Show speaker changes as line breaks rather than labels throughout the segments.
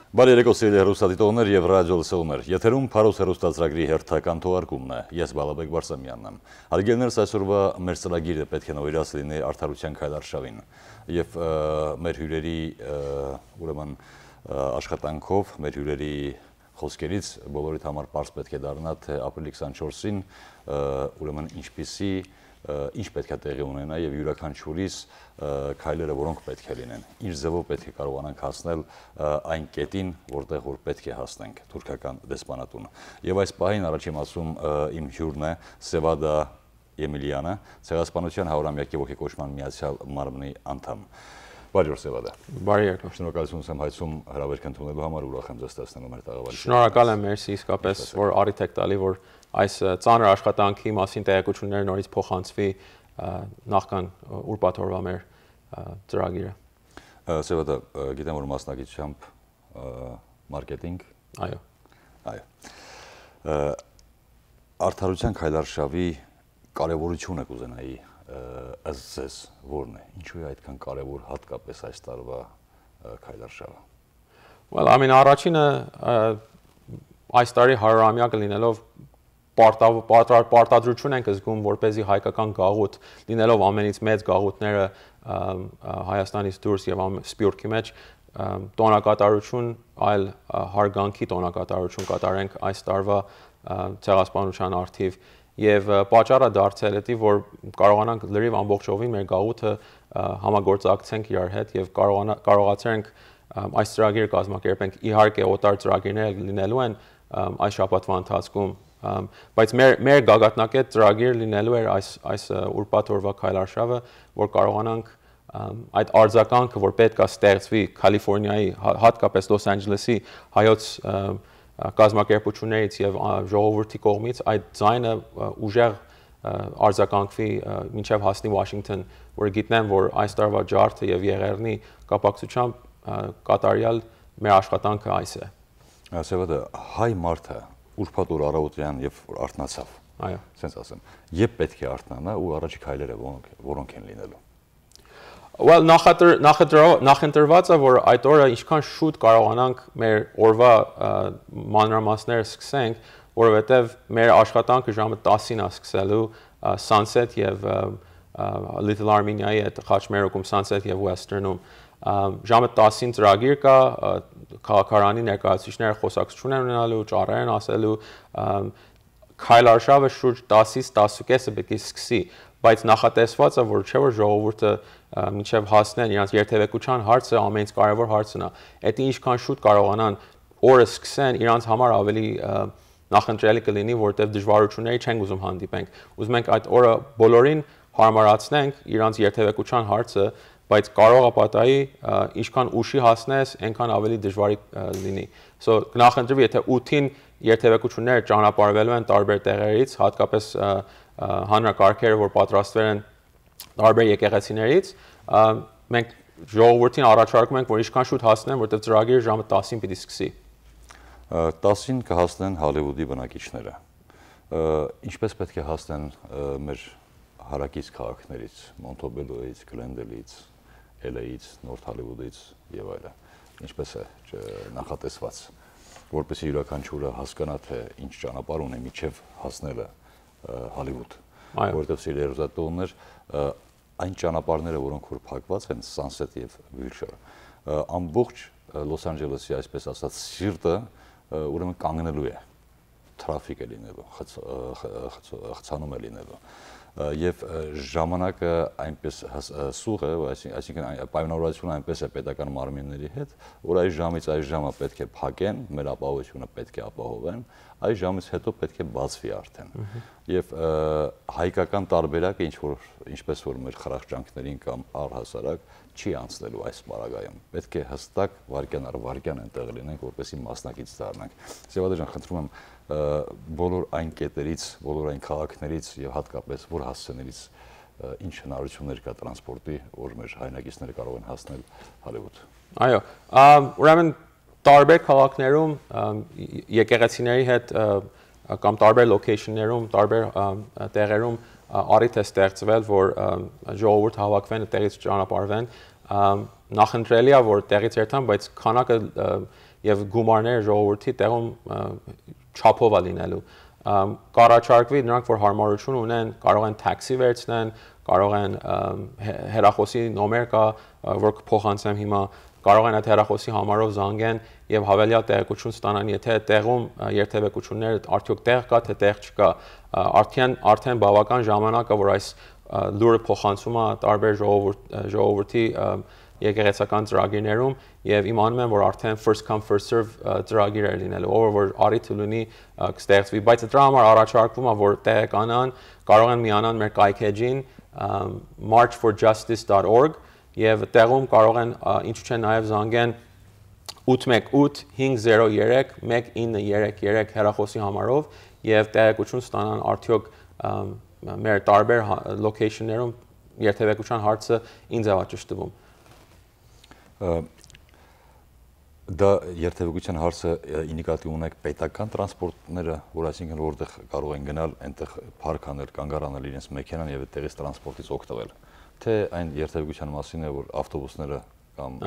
Բարի երեկո սիրելի հեռուստադիտողներ եւ ռադիո լսողներ։ Եթերում Փարոս հեռուստաձրագրի հերթական թողարկումն է։ Ես Բալաբեկ Բարսամյանն եմ։ Հարգելիներս, այսօրվա մեր ծրագիրը պետք է նվիրած լինի արդարության քայլարշավին եւ մեր հյուրերի ուրեմն աշխատանքով, մեր հյուրերի խոսքերից բոլորիդ համար པարզ պետք է դառնա, թե ապրիլի 24-ին ուրեմն ինչ պետք է տեղի ունենա եւ յուրաքանչյուրիս քայլերը որոնք պետք է լինեն, ինչ ձևով պետք է կարողանանք հասնել այն կետին, որտեղ որ պետք է հասնենք թուրքական դեսպանատուն։ Եվ այս պահին առաջին մասում իմ հյուրն է Սևադա Եմիլյանը, Ցեղասպանության 100-ամյակի ոգեկոչման միացյալ մարմնի անդամ։ Բարի օր Սևադա։
Բարի երեկո։
Շնորհակալություն եմ հայցում հրավերք ընդունելու համար, ուրախ եմ ձեզ տեսնելու մեր տաղավարի։
Շնորհակալ եմ, մերսի, իսկապես, որ առիթ եք տալի, որ այս ծանր աշխատանքի մասին տեղեկությունները նորից փոխանցվի նախքան ուրբաթ օրվա մեր ծրագիրը։
Սևադա, գիտեմ, որ մասնագիտությամբ մարքեթինգ։
Այո։
Այո։ Արդարության քայլարշավի կարևորությունը կուզենայի ըստ ձեզ որն է։ Ինչու է այդքան կարևոր հատկապես այս տարվա քայլարշավը։
Well, առաջինը այս տարի 100-ամյակը լինելով պարտադրություն ենք զգում, որպեսզի հայկական գաղութ, լինելով ամենից մեծ գաղութները Հայաստանից դուրս եւ Սփյուռքի մեջ տոնակատարություն, այլ հարգանքի տոնակատարություն կատարենք այս տարվա ցեղասպանության առթիվ եւ պատճառը դարձել է, որ կարողանանք լրիվ ամբողջովին մեր գաղութը համագործակցենք իրար հետ եւ կարողացենք այս ծրագիրը կազմակերպենք։ Իհարկե օտար ծրագիրներ լինելու են այս շաբաթվա ընթացքում, բայց մեր գագաթնակետ ծրագիր լինելու էր այս ուրբաթ օրվա քայլարշավը, որ կարողանանք այդ արձագանքը, որ պետք է ստեղծվի Կալիֆոռնիայի, հատկապես Լոս Անջելեսի հայոց կազմակերպություններից եւ ժողովրդի կողմից այդ ձայնը ուժեղ արձագանքվի մինչեւ հասնի Վաշինգտոն, որ գիտնեն, որ այս տարվա ջարդը եւ Եղեռնի կապակցությամբ կատարյալ մեր աշխատանքը այս է։
Սևադա, հայ մարդը ուրբաթ օր առավոտյան եւ արթնացավ։
Այո։
Սենց ասեմ, երբ պետք է արթնանա ու առաջի քայլերը որոնք են լինելու։
Well, նախընտրված է, որ այդ օրը ինչքան շուտ կարողանանք մեր օրվա մանրամասները սկսենք, որովհետև մեր աշխատանքը ժամը 10-ին է սկսելու Sunset եւ Little Armenia-ի հետ խաչմերուկում Sunset եւ Western-ում ժամը 10-ին ծրագիր կա, քաղաքարանի ներկայացուցիչները խոսակցություն են ունենալու, ճառեր են ասելու, քայլարշավը շուրջ 10-ից 10:30-ը պետք է սկսի, բայց նախատեսված է, որ չէ որ ժողովուրդը մինչև հասնեն իրանց երթևեկության հարցը ամենից կարևոր հարցն է։ Դա ինչքան շուտ կարողանան օրը սկսեն, իրանց համար ավելի նախընտրելի կլինի, որտեղ դժվարությունների չենք ուզում հանդիպենք։ Ուզում ենք այդ օրը բոլորին հարմարացնենք իրանց երթևեկության հարցը, բայց կարող է պատահի ինչքան ուշի հասնես, այնքան ավելի դժվար լինի։ So նախընտրվի, եթե 8-ին երթևեկությունները ճանապարհվելու են տարբեր տեղերից, հատկապես հանրակարգերը, որ պատրաստվել են տարբեր եկեղեցիներից, մենք ժողովրդին առաջարկում ենք, որ ինչքան շուտ հասնեն, որտեղ ծրագիրը ժամը 10-ին պիտի սկսի։
10-ին կհասնեն Հոլիվուդի բնակիչները։ Ինչպես պետք է հասնեն մեր հարակից քաղաքներից, Մոնտեբելոյից, Գլենդելից, LA-ից, Նորթ Հոլիվուդից եւ այլն։ Ինչպես է նախատեսված, որպեսզի յուրաքանչյուրը հասկանա, թե ինչ ճանապարհ ունի միջև հասնելը Հոլիվուդ։ Որտեղ սիրելի հեռուստատողներ, այն ճանապարհները, որոնք որ փակված են, Sunset եւ Wilshire, ամբողջ Լոս Անջելեսի, այսպես ասած, սիրտը ուրեմն կանգնելու է, թրաֆիկ է լինելու, խցանում է լինելու եւ ժամանակը այնպես սուղ է, այսինքն պայմանավորվածությունը այնպես է պետական մարմինների հետ, որ այս ժամից այս ժամը պետք է փակեն, մեր ապահովությունը պետք է ապահովեն, այս ժամից հետո պետք է բացվի արդեն։ Եվ հայկական տարբերակը ինչպես որ մեր խրախճանքներին կամ առհասարակ չի անցնելու այս պարագայում։ Պետք է հստակ վարքյան առ վարքյան այնտեղ լինենք, որպեսզի մասնակից դառնանք։ Սևադա ջան, խնդրում եմ բոլոր այն կետերից, բոլոր այն քաղաքներից եւ հատկապես որ հասցեներից ինչ հնարավորություններ կա տրանսպորտի, որ մեր հայրենակիցները կարող են հասնել Հոլիվուդ։
Այո, ուրեմն տարբեր քաղաքներում եկեղեցիների հետ կամ տարբեր լոքեյշններում, տարբեր տեղերում առիթ է ստեղծվել, որ ժողովուրդ հավաքվեն, այդտեղից ճանապարհվեն։ նախընտրելի է որ տեղից երթան, բայց քանակը եւ գումարները ժողովրդի տեղում չափով է լինելու։ Կառաջարկվի նրանք որ հարմարություն ունեն, կարող են տաքսի վերցնեն, կարող են հեռախոսի նոմեր կա, որ կփոխանցեմ հիմա, կարող են այդ հեռախոսի համարով զանգեն եւ հավելյալ տեղեկություն ստանան, եթե տեղում երթևեկությունները արդյոք տեղ կա, թե տեղ չկա։ Արդեն բավական ժամանակ է որ այս լուրը փոխանցում է տարբեր ժողովրդի եկեղեցական ծրագիրներում եւ իմանում եմ որ արդեն first come first serve ծրագիր է լինելու, ով որ արիթ լինի կստեղծվի, բայց դրա համար առաջարկվում է որ տեղեկանան, կարող են միանան մեր կայքեջին marchforjustice.org եւ տեղում կարող են ինչու՞ չէ նաեւ զանգեն 818-503-1933 հեռախոսի համարով եւ տեղեկություն ստանան արդյոք մեր տարբեր location-ներում երթևեկության հարցը ինձ է ճշտվում։
Դա երթևեկության հարցը ինիկատիվ ունեք պետական տրանսպորտները, որ այսինքն որտեղ կարող են գնալ, այնտեղ փարք անել, կանգ առնել իրենց մեքենան եւ այդտեղից տրանսպորտից օգտվել, թե այն երթևեկության մասին է, որ ավտոբուսները կամ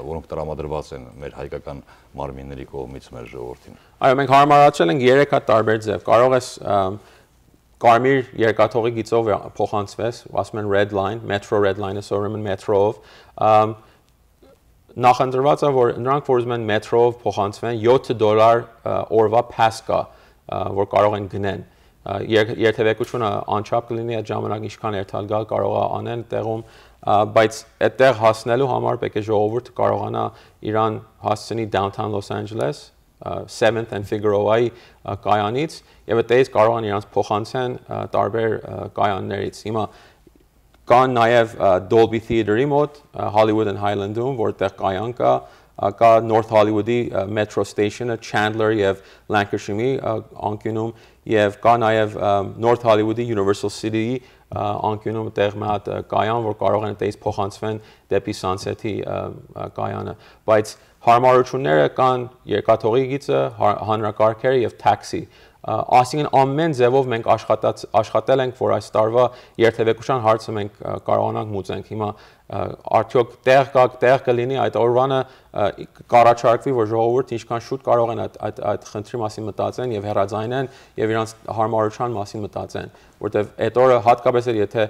որոնք տրամադրված են մեր հայկական մարմինների կողմից մեր ժողովրդին։
Այո, մենք հարմարացրել ենք 3 հատ տարբեր ձև։ Կարող ես կարմիր երկաթողի գիծով փոխանցվես, ասում են red line, metro red line-ը սովորում են մետրոով։ Նախընտրված է որ նրանք որ ուզում են մետրոով փոխանցվեն $7 օրվա pass կա, որ կարող են գնեն։ Երթևեկությունը անչափ կլինի այդ ժամանակ ինչքան երթալ գալ կարող է անեն տեղում, բայց այդտեղ հասնելու համար պետք է ժողովուրդը կարողանա իրան հասցնի downtown Los Angeles 7th and Figueroa-ի կայանից եւ այդտեղից կարող են իրանց փոխանցեն տարբեր կայաններից։ Հիմա կան նաեւ Dolby Theater-ի մոտ Hollywood and Highland-ում, որտեղ կայան կա North Hollywood-ի Metro Station-ը Chandler եւ Lancashire-ի անկյունում եւ կա նաեւ North Hollywood-ի Universal City-ի անկյունում տեղ մի հատ կայան, որ կարող են այդտեղից փոխանցվեն դեպի Sunset-ի կայանը, բայց հարմարությունները կան երկաթողի գիծը, հանրակարգերը եւ տաքսի։ Այսինքն ամեն ձևով մենք աշխատել ենք, որ այս տարվա երթևեկության հարցը մենք կարողանանք մուծենք։ Հիմա արդյոք տեղ կլինի այդ օրվանը կառաջարկվի, որ ժողովուրդը ինչքան շուտ կարող են այդ խնդրի մասին մտածեն եւ հեռաձայնեն եւ իրանց հարմարության մասին մտածեն, որտեւ այդ օրը հատկապես եթե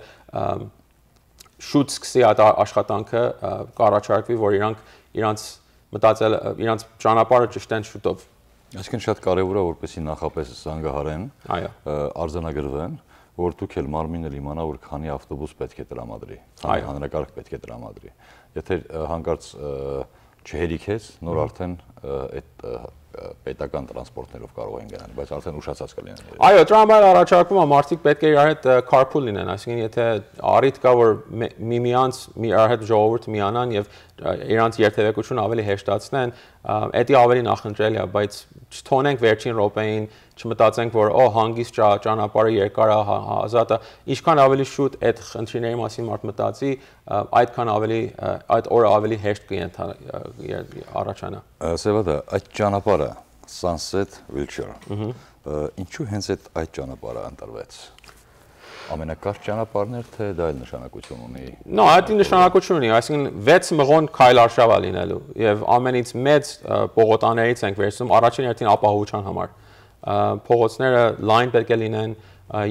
շուտ սկսի այդ աշխատանքը կառաջարկվի, որ իրանց մտածել իրանց ճանապարհը ճշտեն շուտով։
Այսինքն շատ կարևոր է որպեսզի նախապես զանգահարեն, արձանագրվեն, որ դուք էլ մարմինը իմանա, որ քանի ավտոբուս պետք է տրամադրի, քանի հանրակարգ պետք է տրամադրի։ Եթե հանկարծ չհերիքես, նոր արդեն այդ պետական տրանսպորտներով կարող են գնալ, բայց արդեն ուշացած կլինեն։
Այո, դրա համար առաջարկվում է մարդիկ պետք է իրար հետ carpool լինեն, այսինքն եթե առիթ կա որ միմյանց իրար հետ ժողովուրդ միանան եւ իրանց երթևեկությունը ավելի հեշտացնեն, դա ավելի նախընտրելի է, բայց չթողնենք վերջին րոպեին, չմտածենք որ հանգիստ ճանապարհը երկար է, ազատ է, ինչքան ավելի շուտ այդ խնդիրների մասին մարդ մտածի, այդքան ավելի այդ օրը ավելի հեշտ կառաջանա։
Սևադա, այդ ճանապարհը Sunset Wilshire, ինչու հենց այդ ճանապարհը ընտրվեց։ Ամենակարճ ճանապարհն էր, թե դա էլ նշանակություն ունի։
Նո, դա նշանակություն ունի, այսինքն 6 մղոն քայլարշավ է լինելու եւ ամենից մեծ պողոտաներից ենք վերցնում առաջին հերթին ապահովության համար։ Փողոցները լայն պետք է լինեն,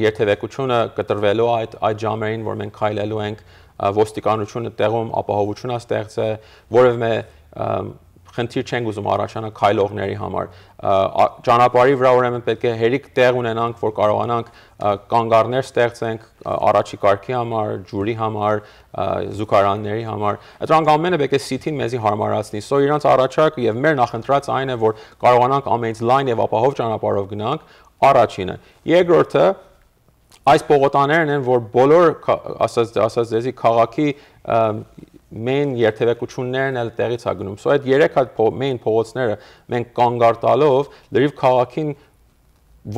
երթևեկությունը կտրվելու այդ ժամերին, որ մենք քայլելու ենք, ոստիկանությունը տեղում ապահովություն է ստեղծել, որևէ խնդիր չենք ուզում առաջանա քայլողների համար։ Ճանապարհի վրա ուրեմն պետք է հերիք տեղ ունենանք, որ կարողանանք կանգառներ ստեղծենք առաջի կարգի համար, ջուրի համար, զուգարանների համար։ Դրանք ամենը պետք է սիթին մեզի հարմարացնի։ Սո իրանց առաջարկը եւ մեր նախընտրած այն է, որ կարողանանք ամենից լայն եւ ապահով ճանապարհով գնանք, առաջինը։ Երկրորդը այս պողոտաներն են, որ բոլոր ասած դեզի քաղաքի main երթևեկություններն էլ տեղից է գնում։ Սո այդ 3 հատ main փողոցները մենք կանգար տալով լրիվ քաղաքին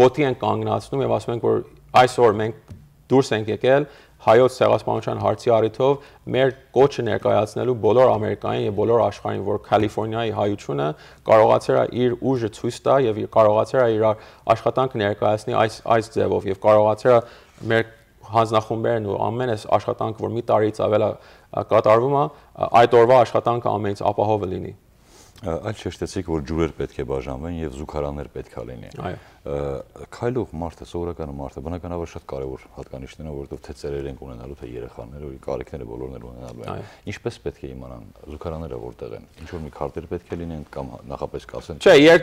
ոտի են կանգնացնում եւ ասում ենք որ այսօր մենք դուրս ենք եկել հայոց ցեղասպանության հարցի առիթով մեր կոչը ներկայացնելու բոլոր ամերիկային եւ բոլոր աշխարհին, որ Կալիֆոռնիայի հայությունը կարողացել է իր ուժը ցույց տա եւ կարողացել է իր աշխատանքը ներկայացնի այս ձևով եւ կարողացել է մեր հանձնախումբերն ու ամեն այս աշխատանքը, որ մի տարից ավել կատարվում է, այդ օրվա աշխատանքը ամենից ապահովը լինի։
Այլ շեշտեցիք, որ ջուրեր պետք է բաժանվեն եւ զուգարաններ պետք է լինի։ Քայլող մարդը, սովորական մարդը, բնականաբար շատ կարևոր հատկանիշներ են, որովհետեւ թե ծերեր են ունենալու, թե երեխաները, ու կարիքները բոլորն են ունենալու են։ Ինչպես պետք է իմանան զուգարանները որտեղ են։ Ինչ որ մի քարտեր պետք է լինեն կամ նախապես կասեն։
Չէ,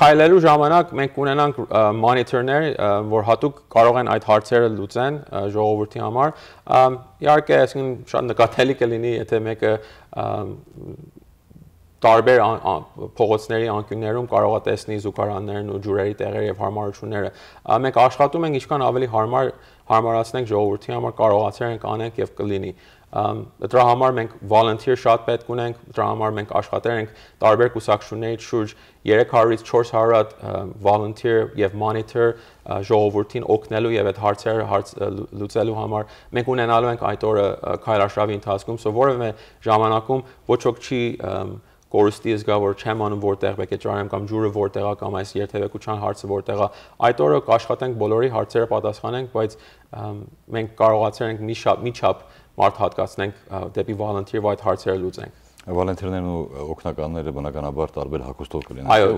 քայլելու ժամանակ մենք ունենանք մոնիտորներ, որ հատուկ կարող են այդ հարցերը լուծեն ժողովրդի համար։ Իհարկե, այսինքն շատ նկատելի կլինի, եթե մեկը տարբեր փողոցների անկյուններում կարող է տեսնի զուգարաններն ու ջուրերի տեղերը եւ հարմարությունները։ Մենք աշխատում ենք ինչքան ավելի հարմարացնենք ժողովրդի համար, կարողացել ենք անենք եւ կլինի։ Դրա համար մենք volunteer շատ պետք ունենք, դրա համար մենք աշխատել ենք տարբեր կուսակցություններից շուրջ 300-ից 400 volunteer եւ monitor ժողովրդին օգնելու եւ այդ հարցերը լուծելու համար։ Մենք ունենալու ենք այդ օրը քայլարշավի ընթացքում, որևէ ժամանակում ոչ ոք չի կորստի զգա, որ չեմ անում որտեղ պետք է ճարեմ կամ ջուրը որտեղ է կամ այս երթևեկության հարցը որտեղ է։ Այդ օրը կաշխատենք բոլորի հարցերը պատասխանենք, բայց մենք կարողացել ենք մի չափ մարդ հատկացնենք դեպի volunteer այդ հարցերը լուծենք։
Վոլոնտերներն ու օգնականները բնականաբար տարբեր հագուստով կլինեն։
Այո,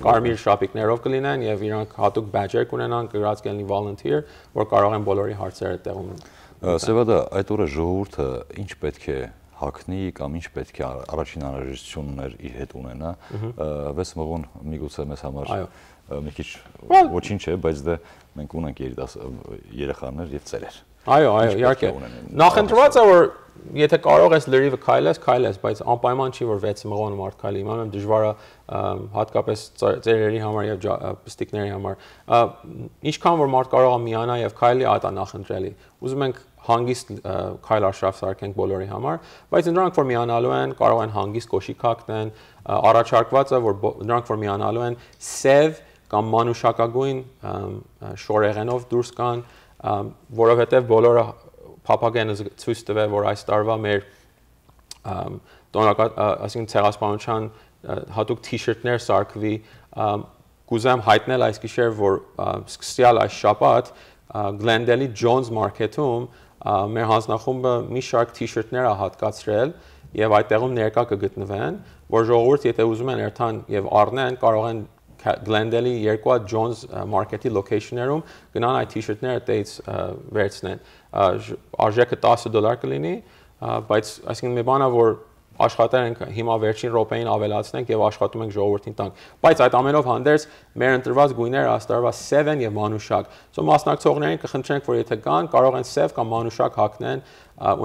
կարմիր շապիկներով կլինեն եւ իրանք հատուկ բեջեր կունենան, գրած կլինի volunteer, որ կարող են բոլորի հարցերը տեղում։
Սևադա, այդ օրը ժողովուրդը ինչ պետք է հագնի կամ ինչ պետք է առաջին անհրաժեշտություններ իր հետ ունենա, 6 մղոն միգուցե մեզ համար մի քիչ ոչինչ է, բայց դե մենք ունենք երեխաներ եւ ծերեր։
Այո, իհարկե։ Նախընտրված է, որ եթե կարող ես լրիվը քայլես, բայց անպայման չի, որ 6 մղոն մարդ քայլի։ Իմանում եմ դժվար է հատկապես ծերերի համար եւ պստիկների համար։ Ինչքան որ մարդ կարող է միանա եւ քայլի, այդ է նախընտրելի։ Ուզում ենք հանգիստ քայլարշավ սարքենք բոլորի համար, բայց նրանք որ միանալու են, կարող են հանգիստ կոշիկ հագնեն, առաջարկված է, որ նրանք որ միանալու են, սև կամ մանուշակագույն շորեղենով դուրս կան, որովհետև բոլորը փափագ են ցույց տվել, որ այս տարվա մեր այսինքն ցեղասպանության հատուկ թիշերտներ սարքվի, կուզեմ հայտնել այս գիշեր, որ սկսյալ այս շաբաթ Glendale-ի Jones Market-ում մեր հանձնախումբը մի շարք թիշերտներ է հատկացրել եւ այդտեղում ներկա կգտնվեն, որ ժողովուրդ եթե ուզում են երթան եւ առնեն, կարող են Glendale-ի երկու Jones Market-ի location-ներում գնան այդ թիշերտները տեից վերցնեն։ Արժեքը $10 կլինի, բայց այսինքն մի բան է, որ աշխատել ենք հիմա վերջին րոպեին ավելացնենք եւ աշխատում ենք ժողովրդին տանք։ Բայց այդ ամենով հանդերձ մեր ընտրված գույները աստարվա սև են եւ մանուշակ։ Սա մասնակցողներին կխնդրենք, որ եթե կան, կարող են սև կամ մանուշակ հագնեն,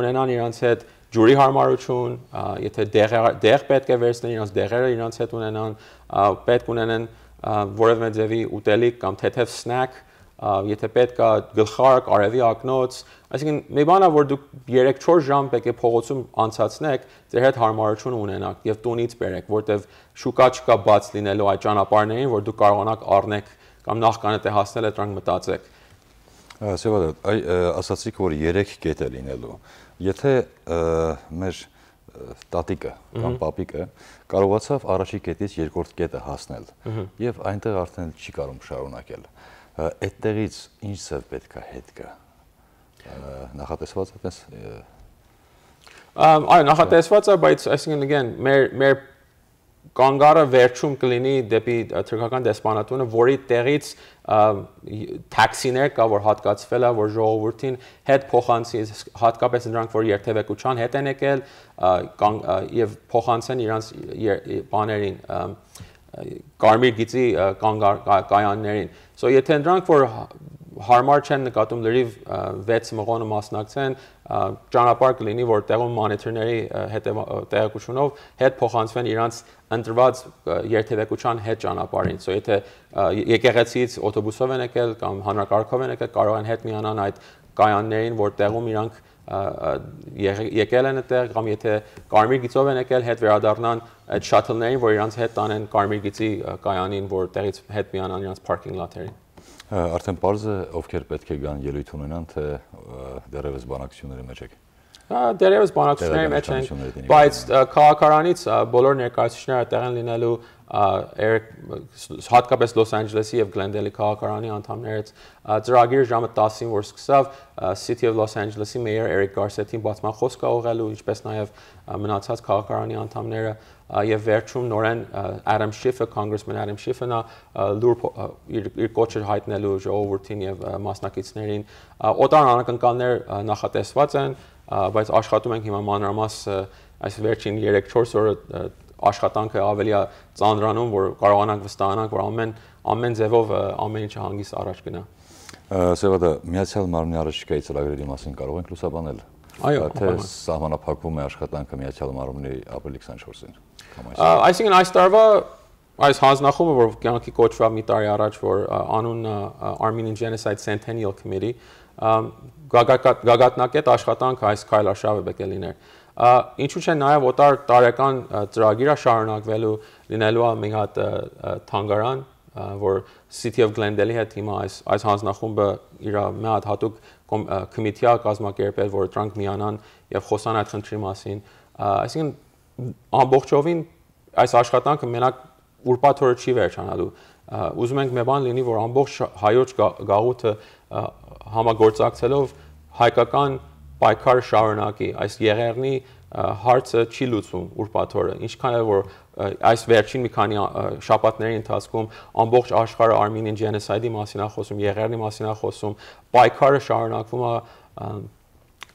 ունենան իրancs հետ ջուրի հարմարություն, եթե դեղ պետք է վերցնեն, իրancs դեղերը իրancs հետ ունենան, պետք ունենան որևէ ձևի ուտելիք կամ թեթև սնեք, եթե պետք է գլխարկ, արևի ակնոց, այսինքն մի բան է, որ դուք 3-4 ժամ պետք է փողոցում անցացնեք, ձեր հետ հարմարություն ունենաք եւ տունից բերեք, որտեվ շուկա չկա բաց լինելու այդ ճանապարհներին, որ դուք կարողանաք առնեք կամ նախքան դե հասնել եք դրանք մտածեք։
Սևադա, ասացիք, որ 3 կետ է լինելու։ Եթե մեր տատիկը կամ պապիկը կարողացավ առաջի կետից երկրորդ կետը հասնել եւ այնտեղ արդեն չի կարող շարունակել, այդտեղից ինչ ծև պետք է հետ գա։ Նախատեսված է տես։
Այո, նախատեսված է, բայց այսինքն մեր կանգառը վերջում կլինի դեպի թուրքական դեսպանատունը, որի տեղից տաքսիներ կա, որ հատկացվել է, որ ժողովրդին հետ փոխանցի, հատկապես նրանք, որ երթևեկության հետ են եկել եւ փոխանցեն իրանց բաներին, կարմիր գիծի կայաններին։ Եթե նրանք, որ հարմար չեն նկատում լրիվ 6 մղոնը մասնակցեն, ճանապարհ կլինի, որ տեղում մոնիտորների տեղեկությունով հետ փոխանցվեն իրանց ընտրված երթևեկության հետ ճանապարհին։ Եթե եկեղեցից օտոբուսով են եկել կամ հանրակարգով են եկել, կարող են հետ միանան այդ կայաններին, որ տեղում իրանք եկել են այդտեղ, կամ եթե կարմիր գիծով են եկել, հետ վերադառնան այդ շաթլներին, որ իրանց հետ տանեն կարմիր գիծի կայանին, որ տեղից հետ միանան իրանց parking lot-երին։
Արդեն պարզ է, ովքեր պետք է գան ելույթ ունենան, թե դեռևս բանակցությունների մեջ եք։
Դերևս բանակցությունների մեջ ենք, բայց քաղաքարանից բոլոր ներկայացուցիչները տեղ են լինելու հատկապես Լոս Անջելեսի եւ Գլենդելի քաղաքարանի անդամներից ծրագիրը ժամը 10-ին որ սկսավ City of Los Angeles-ի մեյոր Էրիկ Գարսետին բացման խոսք ուղղելու, ինչպես նաեւ մնացած քաղաքարանի անդամները եւ վերջում նորեն Adam Schiff-ը, Congressman Adam Schiff-ը իր կոչը հայտնելու ժողովրդին եւ մասնակիցներին օտար անակնկալներ նախատեսված են, բայց աշխատում ենք հիմա մանրամաս այս վերջին 3-4 օրը աշխատանքը ավելի ծանրանում, որ կարողանանք վստահանանք, որ ամեն ձևով ամեն ինչը հանգիստ առաջ գնա։
Սևադա, Միացյալ Մարմնի առաջիկայի ծրագրերի մասին կարող ենք լուսաբանել։
Այո,
թե սահմանափակվում է աշխատանքը Միացյալ Մարմնի ապրիլի 24-ին։
Այսինքն այս տարվա այս հանձնախումբը, որ կյանքի կոչվավ մի տարի առաջ, որ անունը Armenian Genocide Centennial Committee, գագաթնակետ աշխատանք այս քայլարշավը պետք է լիներ։ Ինչու՞ չէ նաև օտար տարեկան ծրագիրա շարունակվելու լինելու է մի հատ թանգարան, որ City of Glendale-ի հետ հիմա այս հանձնախումբը իր մի հատ հատուկ կոմիտեա կազմակերպել, որ դրանք միանան եւ խոսան այդ խնդրի մասին։ Այսինքն ամբողջովին այս աշխատանքը մենակ ուրբաթ օրը չի վերջանալու։ Ուզում ենք մի բան լինի, որ ամբողջ հայոց գաղութը համագործակցելով հայկական պայքարը շարունակի, այս եղեռնի հարցը չի լուծվում ուրբաթ օրը, ինչքան էլ որ այս վերջին մի քանի շաբաթների ընթացքում ամբողջ աշխարհը Armenian Genocide-ի մասին է խոսում, եղեռնի մասին է խոսում, պայքարը շարունակվում է,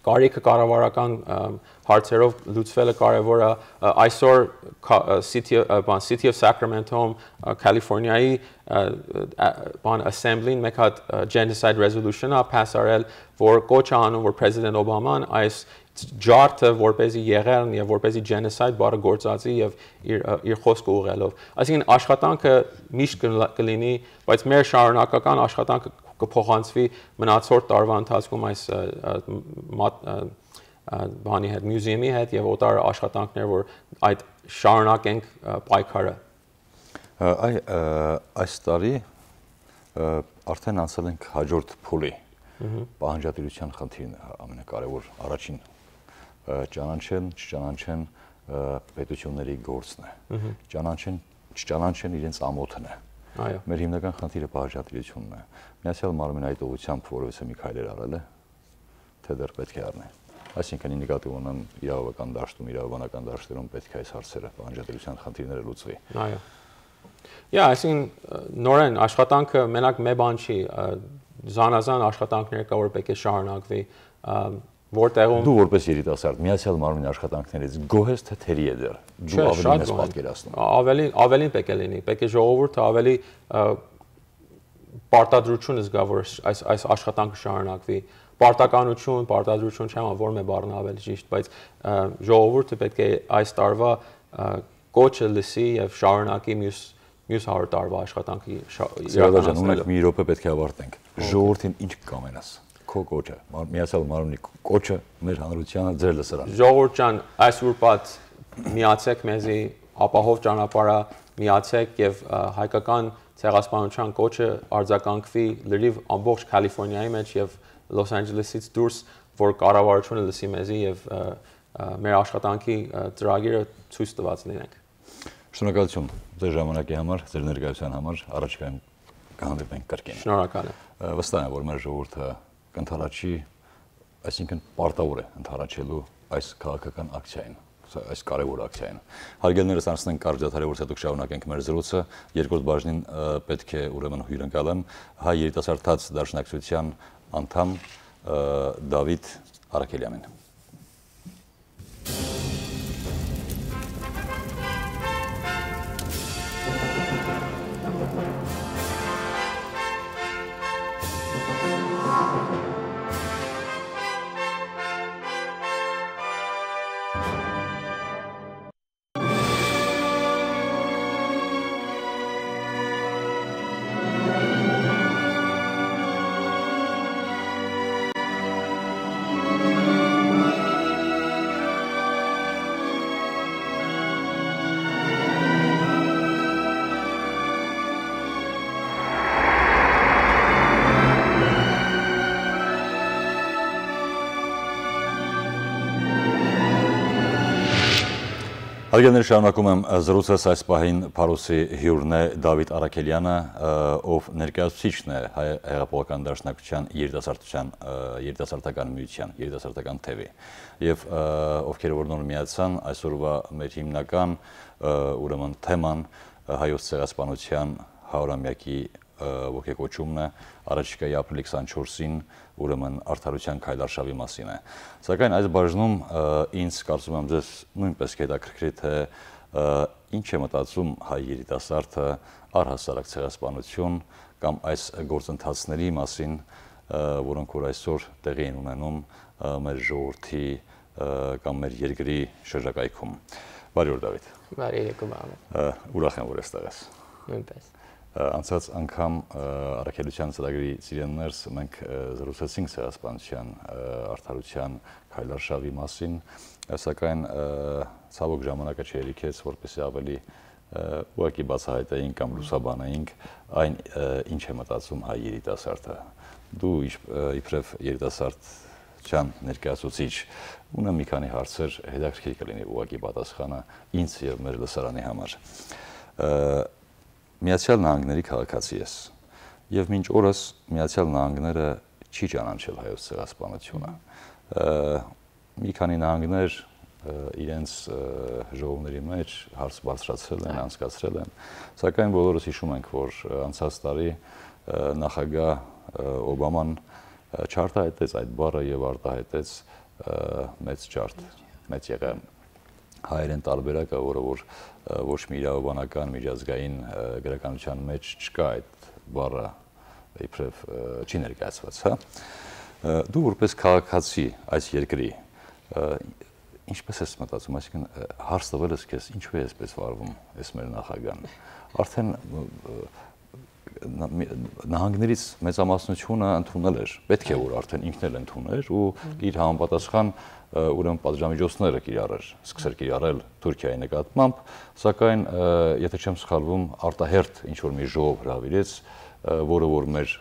կարիքը կառավարական հարցերով լուծվելը կարևոր է, այսօր City of Sacramento-ում Կալիֆոռնիայի Assembly-ն մեկ հատ genocide resolution-ը pass արել, որ կոչ է անում, որ President Օբաման այս ջարդը որպեսզի եղեռն եւ որպեսզի genocide բառը գործածի եւ իր խոսքը ուղղելով։ Այսինքն աշխատանքը միշտ կլինի, բայց մեր շարունակական աշխատանքը կփոխանցվի մնացորդ տարվա ընթացքում այս բանի հետ, մյուզեումի հետ եւ օտար աշխատանքներ, որ այդ շարունակենք պայքարը։
Այս տարի արդեն անցել ենք հաջորդ փուլի պահանջատիրության խնդիրն է ամենակարևոր առաջին ճանաչեն, չճանաչեն պետությունների գործն է։ Ճանաչեն, չճանաչեն իրենց ամոթն է։
Այո։
Մեր հիմնական խնդիրը պահանջատիրությունն է։ Միացյալ Մարմինը այդ ուղղությամբ որևէ մի քայլեր արել է, թե դեռ պետք է առնի։ Այսինքն նկատի ունեմ իրավական դաշտում, իրավաբանական դաշտերում պետք է այս հարցերը պահանջատիրության խնդիրները լուծվի։
Այո։ Այսինքն նորեն աշխատանքը մենակ մի բան չի, զանազան աշխատանքներ կա, որ պետք է շարունակվի, որտեղում
դու որպես երիտասարդ Միացյալ Մարմնի աշխատանքներից գոհ ես թե թերի է դեռ։ Դու ավելի մեծ պատկերացնում։
Ավելին պետք է լինի, պետք է ժողովուրդը ավելի պարտադրություն զգա, որ այս աշխատանքը շարունակվի։ Պարտադրություն չեմ, որ մի բառն ավելի ճիշտ, բայց ժողովուրդը պետք է այս տարվա կոչը լսի եւ շարունակի մյուս 100 տարվա աշխատանքի
իրականացնելը։ Ունենք մի րոպե պետք է ավարտենք։ Ժողովրդին ինչ կամենաս։ Քո կոչը, Միացյալ Մարմնի կոչը մեր հանրությանը ձեր լսարան։
Ժողովուրդ ջան, այս ուրբաթ միացեք մեզի, ապահով ճանապարհը, միացեք եւ հայկական ցեղասպանության կոչը արձագանքվի լրիվ ամբողջ Կալիֆոռնիայի մեջ եւ Լոս Անջելեսից դուրս, որ կառավարությունը լսի մեզի եւ մեր աշխատանքի ծրագիրը ցույց տված լինենք։
Շնորհակալություն ձեր ժամանակի համար, ձեր ներկայության համար, առաջիկայում կհանդիպենք կրկին։
Շնորհակալ եմ։
Վստահ եմ, որ մեր ժողովուրդը կընթառաջի, այսինքն պարտավոր է ընթառաջելու այս քաղաքական ակցիային, այս կարևոր ակցիային։ Հարգելիներս, անցնենք կարճ դադարի, որ հետո շարունակենք մեր զրույցը։ Երկրորդ բաժնին պետք է ուրեմն հյուրընկալեմ հայ երիտասարդաց դաշնակցության անդամ Դավիթ Արաքելյանին։ Հարգելի շարունակում եմ զրուցել այս պահին Փարոսի հյուրն է Դավիթ Արաքելյանը, ով ներկայացուցիչն է Հայ հեղափոխական դաշնակցության երիտասարդական միության, երիտասարդական թևի, եւ ովքեր որ նոր միացան, այսօրվա մեր հիմնական ուրեմն թեման հայոց ցեղասպանության 100-ամյակի ոգեկոչումն է առաջիկայի ապրիլի 24-ին ուրեմն արդարության քայլարշավի մասին է։ Սակայն այս բաժնում ինձ կարծում եմ ձեզ նույնպես կհետաքրքրի թե ինչ է մտածում հայ երիտասարդը առհասարակ ցեղասպանություն կամ այս գործընթացների մասին, որոնք որ այսօր տեղի են ունենում մեր ժողովրդի կամ մեր երկրի շրջակայքում։ Բարի օր Դավիթ։
Բարի երեկո Մամեդ։
Ուրախ եմ որ այստեղ ես։
Նույնպես։
Անցած անգամ առաքելության ծրագրի ծիրեններս մենք զրուցեցինք ցեղասպանության արդարության քայլարշավի մասին, սակայն ցավոք ժամանակը չերիքեց, որպեսզի ավելի ուղղակի բացահայտեինք կամ լուսաբանեինք այն ինչ է մտածում հայ երիտասարդը։ Դու իբրև երիտասարդության ներկայացուցիչ ունեմ մի քանի հարցեր, հետաքրքիր կլինի ուղղակի պատասխանը ինձ եւ մեր լսարանի համար։ Միացյալ Նահանգների քաղաքացի ես եւ մինչ օրս Միացյալ Նահանգները չի ճանաչել հայոց ցեղասպանությունը։ Մի քանի նահանգներ իրենց ժողովների մեջ հարց բարձրացրել են, անցկացրել են, սակայն բոլորս հիշում ենք, որ անցած տարի նախագահ Օբաման չարտահայտեց այդ բառը եւ արտահայտեց մեծ ջարդ, մեծ եղան հայերեն տարբերակը, որը որ ոչ մի իրավաբանական միջազգային գրականության մեջ չկա այդ բառը իբրև չի ներկայացված, հա։ Դու որպես քաղաքացի այս երկրի ինչպես ես մտածում, այսինքն հարց տվել ես քեզ, ինչու է այսպես վարվում այս մեր նախագահան։ Արդեն նահանգներից մեծամասնությունը ընդունել էր, պետք է որ արդեն ինքն էլ ընդուներ ու իր համապատասխան ուրեմն պատժամիջոցները կիրառեր, սկսեր կիրառել Թուրքիայի նկատմամբ, սակայն եթե չեմ սխալվում, արտահերթ ինչ որ մի ժողով հրավիրեց, որը որ մեր